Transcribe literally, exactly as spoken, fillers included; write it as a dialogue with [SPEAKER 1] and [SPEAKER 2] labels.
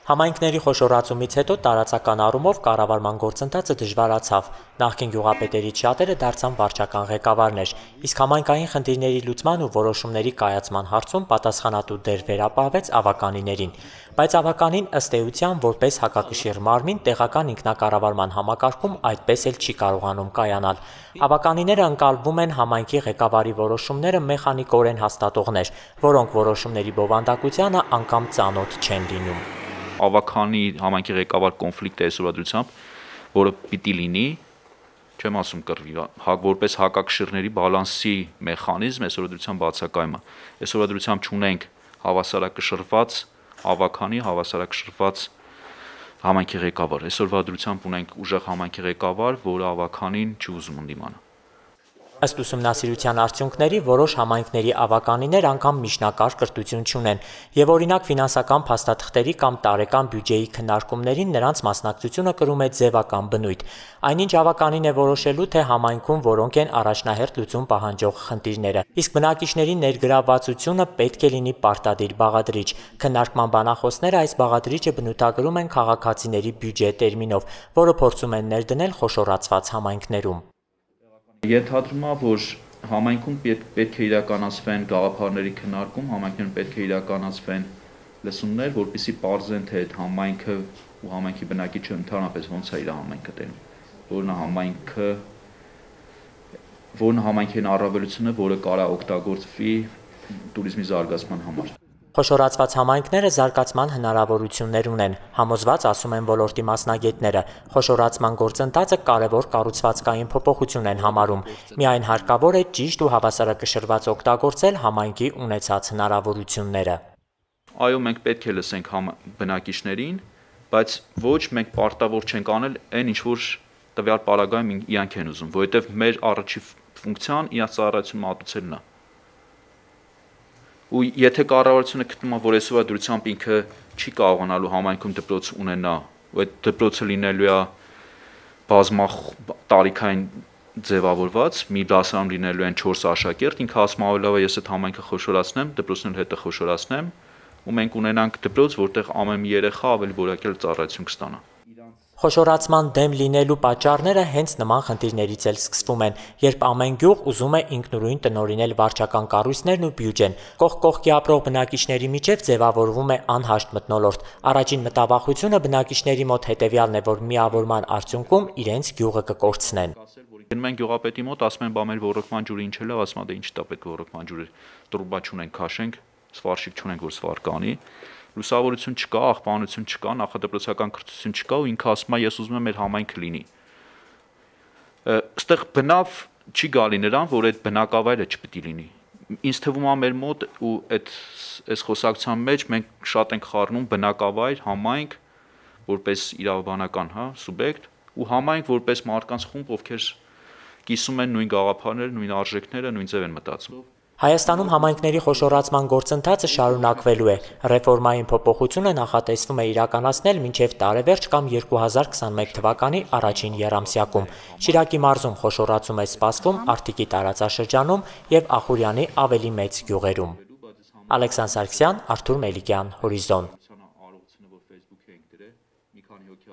[SPEAKER 1] Համայնքների խոշորացումից հետո տարածական առումով կառավարման գործընթացը դժվարացավ, նախկին գյուղապետերից շատերը դարձան վարչական ղեկավարներ, իսկ համայնքային խնդիրների լուծման ու որոշումների կայացման հարցում պատասխանատու դեր վերապահվեց ավականիներին, բայց ավականին ըստ էության որպես հակակշիռ մարմին տեղական ինքնակառավարման համակարգում այդպես էլ չի կարողանում կայանալ։ Ավականիները ընկալվում են համայնքի ղեկավարի որոշումները մեխանիկորեն հաստատողներ, որոնք որոշումների բովանդակությանը անգամ ծանոթ չեն լինում։
[SPEAKER 2] Ավականի համայնքի ղեկավար կոնֆլիկտը այսօրադրությամբ, որը պիտի լինի, չեմ ասում կռվի, որպես հակակշիռների բալանսի մեխանիզմ այսօրադրությամբ բացակայում է։ Այսօրադրությամբ չունենք հավասարակշռված ավականի, հավասարակշռված համայնքի ղեկավար։ Այսօրվա դրությամբ ունենք ուժեղ համայնքի ղեկավար, որը ավականին չի ուզում ընդդիմանա։
[SPEAKER 1] Ըստ ուսումնասիրության արդյունքների որոշ համայնքների ավականիներ անգամ միջնակարգ կրթություն չունեն, եւ օրինակ ֆինանսական փաստաթղթերի կամ տարեկան բյուջեի քննարկումներին նրանց մասնակցությունը կրում է ձևական բնույթ, այնինչ ավականին է որոշելու, թե համայնքում որոնք են առաջնահերթ լուծում պահանջող խնդիրները, իսկ բնակիչների ներգրավվածությունը պետք է լինի պարտադիր բաղադրիչ։ Քննարկման բանախոսները այս բաղադրիչը բնութագրում են քաղաքացիների բյուջե տերմինով, որը փորձում են ներդնել խոշորացված համայնքներում։
[SPEAKER 2] Ենթադրում է, որ համայնքում պետք է իրականացվեն գաղափարների քննարկում, համայնքներում պետք է իրականացվեն լսումներ, որպեսզի պարզեն, թե այդ համայնքը ու համայնքի բնակիչը ընդհանրապես ոնց է իր համայնքը տենում, որն է համայնքը, որն համայնքի առավելությունը, որը կարող է օգտագործվի տուրիզմի զարգացման համար։
[SPEAKER 1] Խոշորացված համայնքները զարգացման հնարավորություններ ունեն, համոզված ասում են ոլորտի մասնագետները։ Խոշորացման գործընթացը կարևոր կառուցվածքային փոփոխություն են համարում։ Միայն հարկավոր է ճիշտ ու հավասարակշռված օգտագործել համայնքի ունեցած հնարավորությունները։
[SPEAKER 2] Այո, մենք պետք է լսենք բնակիչներին, բայց ոչ մենք պարտավոր չենք անել այն, ինչ որ տվյալ պարագայում իրանք են ուզում, որովհետև մեր առաջին ֆունկցիան իրաց ծառայությունը մատուցելն է։ Ու եթե կառավարությունը գտնում է, որ այսօր դրությամբ ինքը չի կարողանալու համայնքում դպրոց ունենա, ու այդ դպրոցը լինելու է բազմախ տարիքային ձևավորված, մի դասարան լինելու են չորս աշակերտ, ինքը ասում ավելի լավ է ես այդ համայնքը խոշորացնեմ, դպրոցն հետը խոշորացնեմ, ու մենք ունենանք դպրոց, որտեղ ամեն մի երեխա ավելի որակյալ ծառայություն կստանա։
[SPEAKER 1] Խոշորացման դեմ լինելու պատճառները հենց նման խնդիրներից էլ սկսվում են, երբ ամեն գյուղ ուզում է ինքնուրույն տնօրինել վարչական կառույցներն ու բյուջեն։ Կողք կողքի ապրող բնակիչների միջև ձևավորվում է անհաշտ մթնոլորտ։ Առաջին մտավախությունը բնակիչների մոտ հետևյալն է, որ միավորման արդյունքում իրենց գյուղը կկորցնեն։
[SPEAKER 2] Գնում են գյուղապետի մոտ, ասում են բա մեր ոռոգման ջուրը ինչ է լավ, ասում է դե ինչ տա պետք ոռոգման ջուրը, տրուբա չունենք, քաշենք, սվարշիկ չունենք, որ սվար կանի։ Լուսավորություն չկա, աղբանություն չկա, նախադպրոցական կրթություն չկա ու ինքը ասում է ես ուզում եմ մեր համայնքը լինի։ Այստեղ բնավ չի գալի նրան, որ այդ բնակավայրը չպետք է լինի։ Ինձ թվում է մեր մոտ ու այդ այս խոսակցության մեջ մենք շատ ենք խառնում բնակավայր, համայնք որպես իրավաբանական, հա, սուբյեկտ ու համայնք որպես մարդկանց խումբ, ովքեր կիսում են նույն գաղափարները, նույն արժեքները, նույն ձև են մտածում։
[SPEAKER 1] Հայաստանում համայնքների խոշորացման գործընթացը շարունակվելու է։ Ռեֆորմային փոփոխությունը նախատեսվում է իրականացնել մինչև տարեվերջ կամ երկու հազար քսանմեկ թվականի առաջին եռամսյակում։ Շիրակի մարզում խոշորացում է սպասվում Արտիկի տարածաշրջանում եւ Ախուրյանի ավելի մեծ գյուղերում։ Ալեքսանդր Սարգսյան, Արթուր Մելիքյան, Հորիզոն։